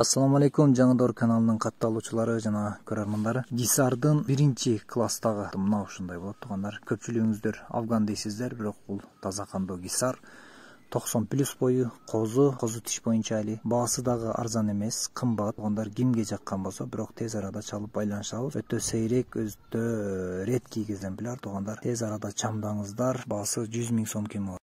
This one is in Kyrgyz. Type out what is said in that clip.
Ассаламу алейкум, Жаңыдор каналынын катталуучулары жана көрөрмандары. Гисардын 1-класстагы мына ушундай болот туугандар. Көпчүлүгүңүздөр афган дейсиздер, бирок бул таза кандуу гисар. 90+ бою, козу тиш боюнча али. Баасы дагы арзан эмес, кымбат. Туугандар кимге жаккан болсо, бирок тез арада чалып байланышабыз. Өтө сейрек, өтө редкий экземпляр туугандар. Тез арада чамдаңыздар. Баасы 100 000 сом кем болот.